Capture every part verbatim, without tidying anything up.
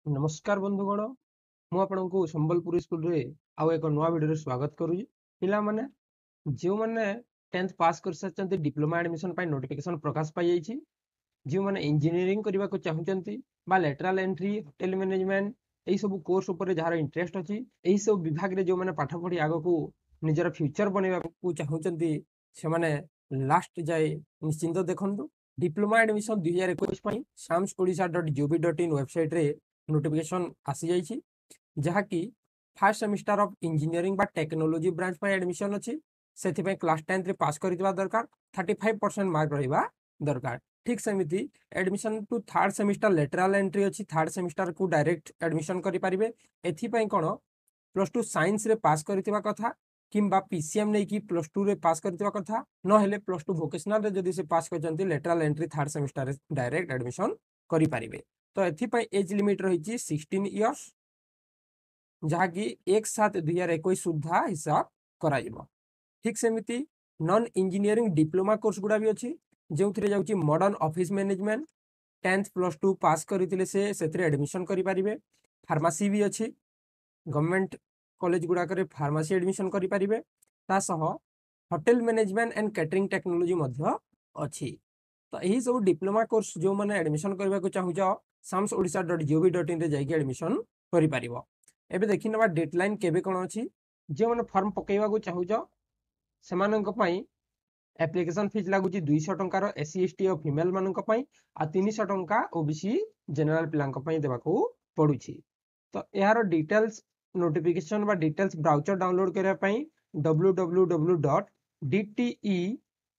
ନମସ୍କାର ବନ୍ଧୁଗଣ ମୁଁ ଆପଣଙ୍କୁ ସମ୍ବଲପୁର ସ୍କୁଲରେ ଆଉ ଏକ ନୂଆ ଭିଡ଼ିଓରେ ସ୍ୱାଗତ କରୁଛି ପିଲାମାନେ ଯେଉଁମାନେ ଟେନ୍ଥ ପାସ୍ କରିସାରିଛନ୍ତି ଡିପ୍ଲୋମା ଆଡ଼ମିସନ୍ ପାଇଁ ନୋଟିଫିକେସନ୍ ପ୍ରକାଶ ପାଇଯାଇଛି ଯେଉଁମାନେ ଇଞ୍ଜିନିୟରିଂ କରିବାକୁ ଚାହୁଁଛନ୍ତି ବା ଲେଟରାଲ ଏଣ୍ଟ୍ରି ହୋଟେଲ ମ୍ୟାନେଜମେଣ୍ଟ ଏହିସବୁ କୋର୍ସ ଉପରେ ଯାହାର ଇଣ୍ଟରେଷ୍ଟ ଅଛି ଏହିସବୁ ବିଭାଗରେ ଯେଉଁମାନେ ପାଠ ପଢ଼ି ଆଗକୁ ନିଜର ଫ୍ୟୁଚର ବନେଇବାକୁ ଚାହୁଁଛନ୍ତି ସେମାନେ ଲାଷ୍ଟ ଯାଏ ନିଶ୍ଚିନ୍ତ ଦେଖନ୍ତୁ ଡିପ୍ଲୋମା ଆଡ଼ମିସନ୍ ଦୁଇ ହଜାର ଏକୋଇଶ ପାଇଁ SAMS Odisha dot GOV dot in ୱେବସାଇଟ୍ରେ notification ଆସିଯାଇଛି ଯାହାକି ଫାର୍ଷ୍ଟ ସେମିଷ୍ଟାର ଅଫ୍ ଇଞ୍ଜିନିୟରିଂ ବା ଟେକ୍ନୋଲୋଜି ବ୍ରାଞ୍ଚ ପାଇଁ ଆଡ଼ମିସନ୍ ଅଛି ସେଥିପାଇଁ କ୍ଲାସ୍ ଟେନ୍ଥରେ ପାସ୍ କରିଥିବା ଦରକାର ଥାର୍ଟି ଫାଇଭ୍ ପରସେଣ୍ଟ ମାର୍କ ରହିବା ଦରକାର ଠିକ୍ ସେମିତି admission to third semester lateral entry ଅଛି ଥାର୍ଡ ସେମିଷ୍ଟାରକୁ ଡାଇରେକ୍ଟ ଆଡ଼ମିସନ୍ କରିପାରିବେ ଏଥିପାଇଁ କ'ଣ ପ୍ଲସ୍ ଟୁ ସାଇନ୍ସରେ ପାସ୍ କରିଥିବା କଥା କିମ୍ବା ପି ସି ଏମ୍ ନେଇକି ପ୍ଲସ୍ ଟୁରେ ପାସ୍ କରିଥିବା କଥା ନହେଲେ ପ୍ଲସ୍ ଟୁ ଭୋକେସନାଲରେ ଯଦି ସେ ପାସ୍ କରିଛନ୍ତି lateral entry third ସେମିଷ୍ଟାରରେ direct admission କରିପାରିବେ ତ ଏଥିପାଇଁ ଏଜ୍ ଲିମିଟ୍ ରହିଛି ସିକ୍ସଟିନ୍ ଇୟର୍ସ ଯାହାକି ଏକ ସାତ ଦୁଇ ହଜାର ଏକୋଇଶ ସୁଦ୍ଧା ହିସାବ କରାଯିବ ଠିକ୍ ସେମିତି ନନ୍ ଇଞ୍ଜିନିୟରିଂ ଡିପ୍ଲୋମା କୋର୍ସ ଗୁଡ଼ା ବି ଅଛି ଯେଉଁଥିରେ ଯାଉଛି modern office management tenth plus two pass କରିଥିଲେ ସେ ସେଥିରେ ଆଡ଼ମିସନ୍ କରିପାରିବେ ଫାର୍ମାସି ବି ଅଛି ଗଭର୍ଣ୍ଣମେଣ୍ଟ କଲେଜ ଗୁଡ଼ାକରେ ଫାର୍ମାସି ଆଡ଼ମିସନ୍ କରିପାରିବେ ତା ସହ hotel management and catering technology ମଧ୍ୟ ଅଛି ତ ଏହି ସବୁ ଡିପ୍ଲୋମା କୋର୍ସ ଯେଉଁମାନେ ଆଡ଼ମିସନ୍ କରିବାକୁ ଚାହୁଁଛ SAMS Odisha dot GOV dot ଇନ୍ରେ ଯାଇକି ଆଡ଼ମିସନ୍ କରିପାରିବ ଏବେ ଦେଖିନେବା ଡେଟ୍ ଲାଇନ୍ କେବେ କ'ଣ ଅଛି ଯେଉଁମାନେ ଫର୍ମ ପକାଇବାକୁ ଚାହୁଁଛ ସେମାନଙ୍କ ପାଇଁ ଆପ୍ଲିକେସନ୍ ଫିଜ୍ ଲାଗୁଛି ଦୁଇଶହ ଟଙ୍କାର ଏସ୍ ସି ଏସ୍ ଟି ଓ ଫିମେଲ୍ ମାନଙ୍କ ପାଇଁ ଆଉ ତିନିଶହ ଟଙ୍କା ଓ ବି ସି ଜେନେରାଲ ପିଲାଙ୍କ ପାଇଁ ଦେବାକୁ ପଡୁଛି ତ ଏହାର ଡିଟେଲ୍ସ ନୋଟିଫିକେସନ୍ ବା ଡିଟେଲ୍ସ ବ୍ରୋଚର ଡାଉନଲୋଡ୍ କରିବା ପାଇଁ W W W dot D T E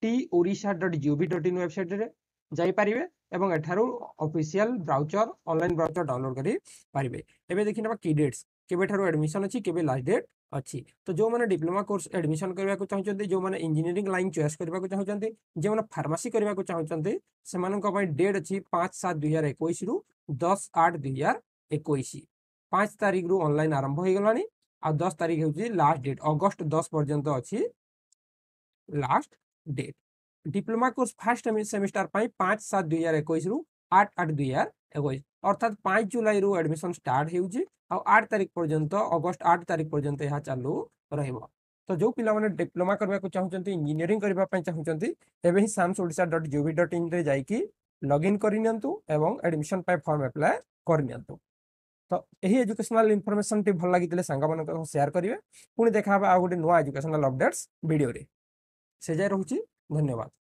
T Odisha dot GOV dot in ୱେବସାଇଟ୍ରେ ଯାଇପାରିବେ ଏବଂ ଏଠାରୁ official brochure online brochure download କରିପାରିବେ ଏବେ ଦେଖିନେବା କି ଡେଟ୍ସ କେବେଠାରୁ ଆଡ଼ମିସନ୍ ଅଛି କେବେ ଲାଷ୍ଟ ଡେଟ୍ ଅଛି ତ ଯେଉଁମାନେ ଡିପ୍ଲୋମା କୋର୍ସ ଆଡ଼ମିସନ୍ କରିବାକୁ ଚାହୁଁଛନ୍ତି ଯେଉଁମାନେ ଇଞ୍ଜିନିୟରିଂ ଲାଇନ୍ ଚଏସ୍ କରିବାକୁ ଚାହୁଁଛନ୍ତି ଯେଉଁମାନେ ଫାର୍ମାସି କରିବାକୁ ଚାହୁଁଛନ୍ତି ସେମାନଙ୍କ ପାଇଁ ଡେଟ୍ ଅଛି ପାଞ୍ଚ ସାତ ଦୁଇ ହଜାର ଏକୋଇଶରୁ ଦଶ ଆଠ ଦୁଇ ହଜାର ଏକୋଇଶ ପାଞ୍ଚ ତାରିଖରୁ ଅନଲାଇନ୍ ଆରମ୍ଭ ହେଇଗଲାଣି ଆଉ ଦଶ ତାରିଖ ହେଉଛି ଲାଷ୍ଟ ଡେଟ୍ ଅଗଷ୍ଟ ଦଶ ପର୍ଯ୍ୟନ୍ତ ଅଛି last date diploma course first semester ପାଇଁ ପାଞ୍ଚ ସାତ ଦୁଇ ହଜାର ଏକୋଇଶରୁ ଆଠ ଆଠ ଦୁଇ ହଜାର ଏକୋଇଶ ଅର୍ଥାତ୍ ପାଞ୍ଚ ଜୁଲାଇରୁ ଆଡ଼ମିସନ୍ ଷ୍ଟାର୍ଟ ହେଉଛି ଆଉ ଆଠ ତାରିଖ ପର୍ଯ୍ୟନ୍ତ ଅଗଷ୍ଟ ଆଠ ତାରିଖ ପର୍ଯ୍ୟନ୍ତ ଏହା ଚାଲୁ ରହିବ ତ ଯେଉଁ ପିଲାମାନେ ଡିପ୍ଲୋମା କରିବାକୁ ଚାହୁଁଛନ୍ତି ଇଞ୍ଜିନିୟରିଂ କରିବା ପାଇଁ ଚାହୁଁଛନ୍ତି ଏବେ ହିଁ SAMS Odisha dot GOV dot ଇନ୍ରେ ଯାଇକି ଲଗ୍ଇନ୍ କରିନିଅନ୍ତୁ ଏବଂ ଆଡ଼ମିସନ୍ ପାଇଁ ଫର୍ମ ଆପ୍ଲାଏ କରିନିଅନ୍ତୁ ତ ଏହି ଏଜୁକେସନାଲ ଇନଫର୍ମେସନଟି ଭଲ ଲାଗିଥିଲେ ସାଙ୍ଗମାନଙ୍କ ସହ ସେୟାର କରିବେ ପୁଣି ଦେଖା ହେବ ଆଉ ଗୋଟେ ନୂଆ ଏଜୁକେସନାଲ ଅପଡେଟ୍ସ ଭିଡ଼ିଓରେ ସେ ଯାଏ ରହୁଛି ଧନ୍ୟବାଦ